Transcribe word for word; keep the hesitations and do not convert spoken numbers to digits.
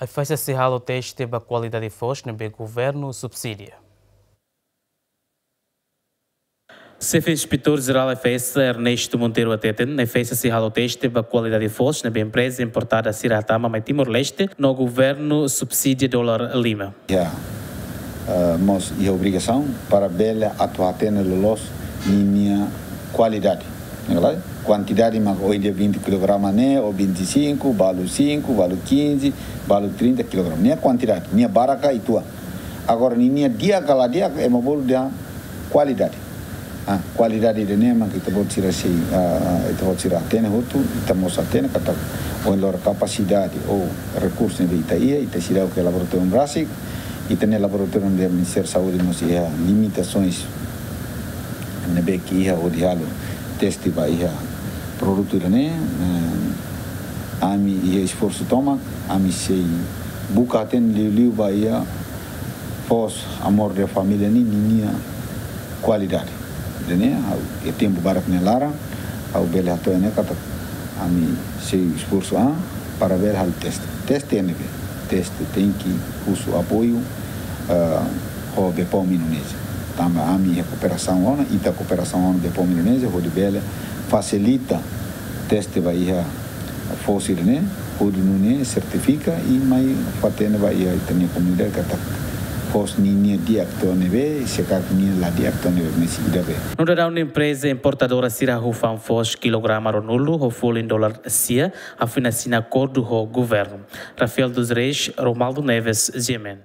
Efesa sei halo teste ba kualidade foos ne'ebé governu subsidia. Xefe Inspetór Jerál Efesa, Ernesto Monteiro, hateten, Efesa sei halo teste ba kualidade foos ne'ebé empreza importadór sira hatama mai Timor-Leste no governu subsidia dolar lima. Ya, eh, mós iha obrigasaun para bele atu hatene loloos ninia kualidade. Ne'e ka lae? Kuantidade mak ohin dia vinte kilograma ne'e, ou vinte e cinco, balu cinco, balu quinze, balu trinta kilograma. Nia kuantidade, nia barak ka uitoan. Agora, ninia di'ak ka la di'ak, ema bolu dehan kualidade. Ah, kualidade ida-ne'e mak ita-boot sira sei, ah, ita-boot sira hatene hotu, ita mós hatene katak ohin loron kapasidade ou rekursu ne'ebé ita iha, ita seidauk iha laboratóriu rasik, ita-nia laboratóriu ne'e Ministériu Saúde mós iha limitasoens ne'ebé ke iha hodi halo teste ba iha produtu ida-ne'e, eh, ami iha esforsu tomak, ami sei buka hatene liuliu ba iha foos Amor da Família ninia kualidade. Ida-ne'e, ha'u, iha tempu badak nia laran, ha'u bele hato'o ne'e katak ami sei esforsu an para bele halo teste. Teste ne'ebé? Teste tenke husu apoiu, eh, ho Bepom Indonézia. Tanba ami iha kooperasaun ona, ita kooperasaun ona Bepom Indonézia, hodi bele fasilita teste ba iha foos ida-ne'e, hodi nune'e sertifika i mai fó-hatene ba iha ita-nia komunidade katak foos ninia di'ak to'o ne'ebé, se karik nia la di'ak to'o ne'ebé, mesi ida be. No daudaun empreza importadora sira hahú fa'an foos kilograma ruanulu ho folin dolar sia, hafina asina akordu ho governu. Rafael dos Reis, Romaldo Neves, G M N.